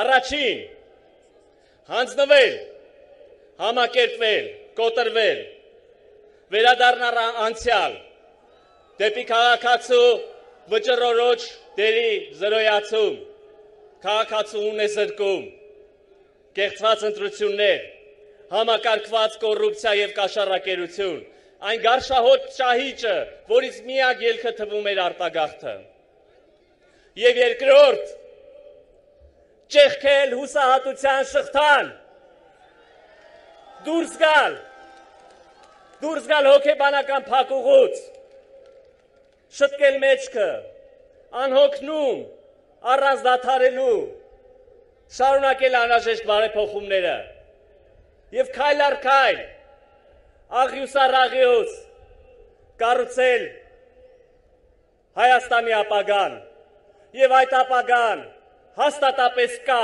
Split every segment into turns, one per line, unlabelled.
Առաջին, հանձնվել, համակերպվել, կոտրվել, վերադառնալ անցյալ, դեպի քաղաքացու վճռորոշ դերի զրոյացում, քաղաքացու ունեզրկում, կեղծված ընտրություններ, համակարգված կոռուպցիա եւ կաշառակերություն, այն գարշահոտ շահիճը, որից միակ ելքը թվում էր արտագաղթը։ Եվ երկրորդ, ճեղքել հուսահատության շղթան, դուրս գալ հոգեբանական փակուղուց, շտկել մեջքը, անհոգնում, առանց դադարելու, շարունակել անհրաժեշտ բարեփոխումները եւ քայլ առ քայլ, աղյուս առ աղյուս, կառուցել Հայաստանի ապագան եւ այդ ապագան հաստատապես կա,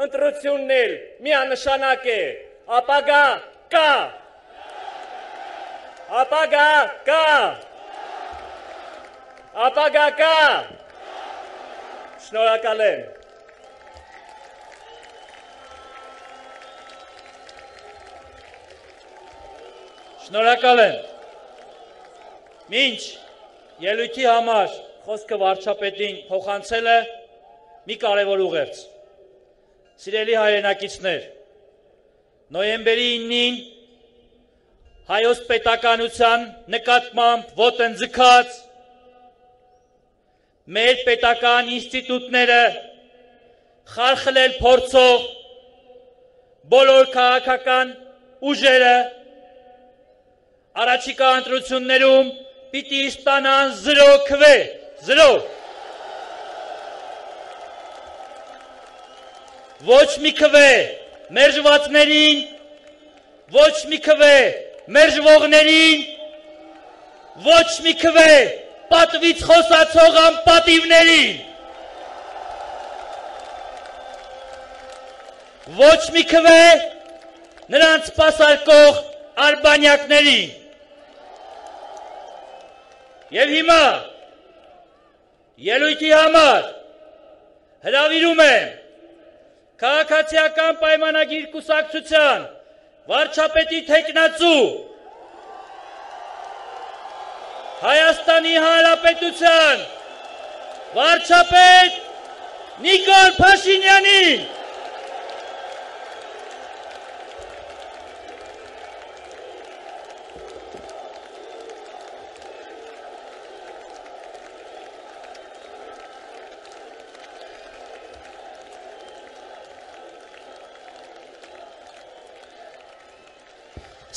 ընտրությունն էլ միանշանակ է, ապագա կա, ապագա կա, ապագա կա, շնորհակալ եմ։
Շնորհակալ եմ։ Մինչ ելույթի համար խոսքը վարչապետին փոխանցել է մի կարևոր ուղերձ։ Սիրելի հայրենակիցներ, նոյեմբերի 9-ին հայոց պետականության նկատմամբ ոտնձգած մեր պետական ինստիտուտները խարխլել փորձող բոլոր քաղաքական ուժերը առաջիկա ընտրություններում պիտի ստանան 0 քվե, 0։ Ոչ մի քվե մերժվածներին, ոչ մի քվե մերժվողներին, ոչ մի քվե պատվից խոսացող անպատիվներին, ոչ մի քվե նրանց սպասարկող արբանյակներին։ Եվ հիմա ելույթի համար հրավիրում եմ քաղաքացիական պայմանագիր կուսակցության վարչապետի թեկնածու Հայաստանի Հանրապետության վարչապետ Նիկոլ Փաշինյանին։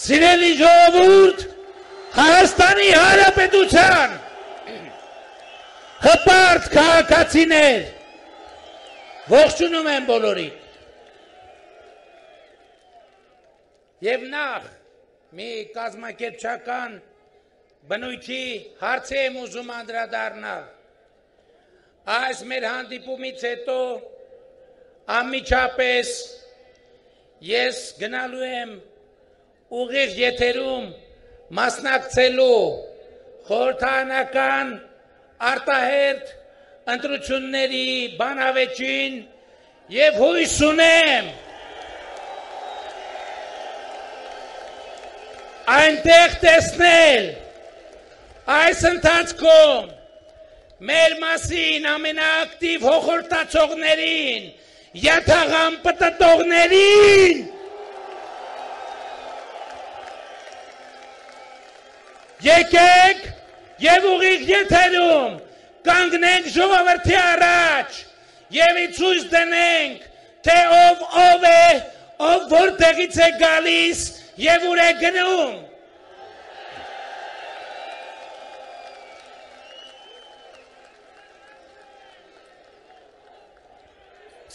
Սիրելի ժողովուրդ, Հայաստանի Հանրապետության հպարտ քաղաքացիներ, ողջունում եմ բոլորին։ Եվ նախ մի կազմակերպչական բնույթի հարցի եմ ուզում անդրադառնալ։ Այս մեր հանդիպումից հետո անմիջապես ես գնալու եմ ուղիղ եթերում մասնակցելու խորհրդարանական արտահերթ ընտրությունների բանավեճին եւ հույս ունեմ այնտեղ տեսնել այս ընթացքում մեր մասին ամենաակտիվ հոխորտացողներին, յաթաղան պտտողներին, եկեք եւ ուղիղ եթերում կանգնենք ժողովրդի առաջ եւ ցույց դնենք, թե ով է, ով որտեղից է գալիս եւ ուր է գնում։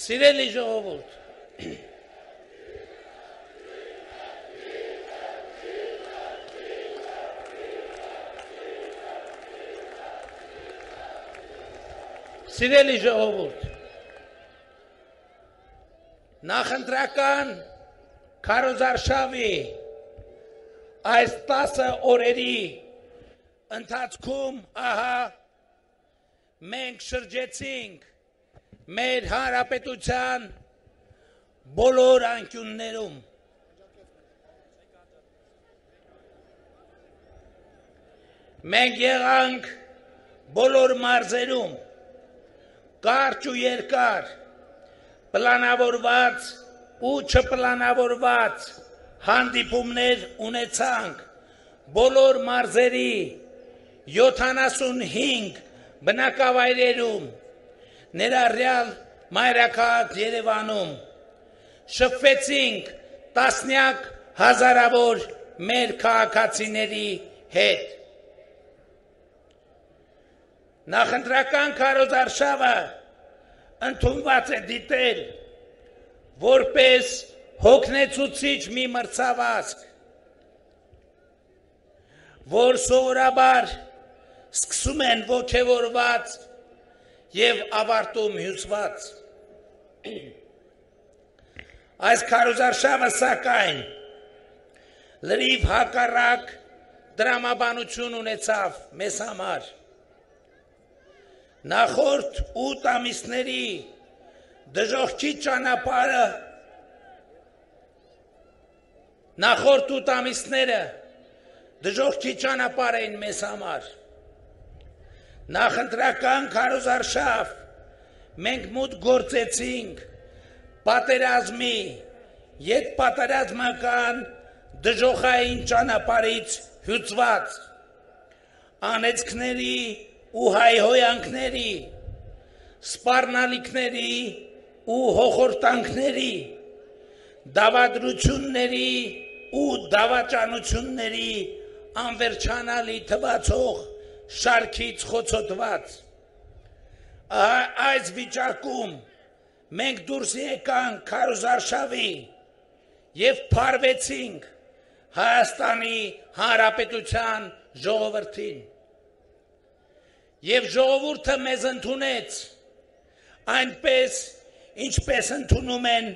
Սիրելի ժողովուրդ, Սիրելի ժողովուրդ, նախընտրական քարոզարշավի այս 10 օրերի ընթացքում ահա մենք շրջեցինք մեր հանրապետության բոլոր անկյուններում մենք եղանք բոլոր մարզերում կարճ ու երկար պլանավորված ու չպլանավորված հանդիպումներ ունեցանք բոլոր մարզերի 75 բնակավայրերում ներառյալ մայրաքաղաք Երևանում շփվեցինք տասնյակ հազարավոր մեր քաղաքացիների հետ Նախընտրական քարոզարշավը ընդունված է դիտել որպես հոգնեցուցիչ մի մրցավազք, որ սովորաբար սկսում են ոգևորված և ավարտում հյուսված։ Այս քարոզարշավը սակայն լրիվ հակառակ դրամաբանություն ունեցավ մեզ համար։ Նախորդ 8 ամիսների դժոխքի ճանապարհը նախորդ 8 ամիսները դժոխքի ճանապարհ էին մեզ համար նախընտրական քարոզարշավ մենք մուտք գործեցինք պատերազմի ետպատերազմական դժոխային ճանապարհից հյուծված անեծքների ու հայհոյանքների, սպառնալիքների ու հոխորտանքների, դավադրությունների ու դավաճանությունների անվերջանալի թվացող շարքից խոցոտված։ Այս վիճակում մենք դուրս եկանք քարոզարշավի և փարվեցինք Հայաստանի Հանրապետության ժողովրդին։ Եվ ժողովուրդը մեզ ընդունեց այնպես, ինչպես ընդունում են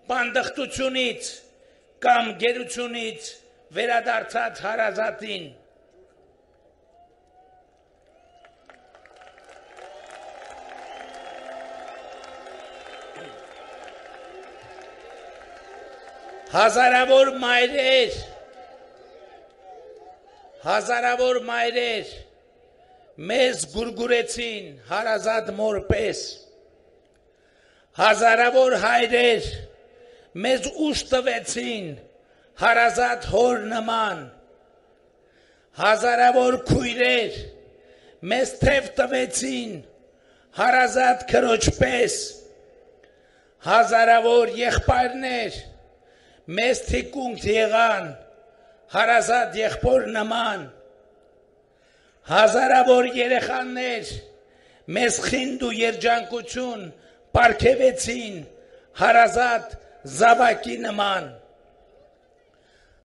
բանդխտությունից կամ գերությունից վերադարձած հարազատին։ Հազարավոր մայրեր մեզ գուրգուրեցին հարազատ մոր պես, հազարավոր հայրեր մեզ ուժ տվեցին հարազատ հոր նման, հազարավոր քույրեր մեզ թև տվեցին հարազատ քրոջ պես, հազարավոր եղբայրներ մեզ թիկունք եղան հարազատ եղբոր նման, հազարավոր երեխաներ մեզ խինդ ու երջանկություն պարգևեցին հարազատ զավակի նման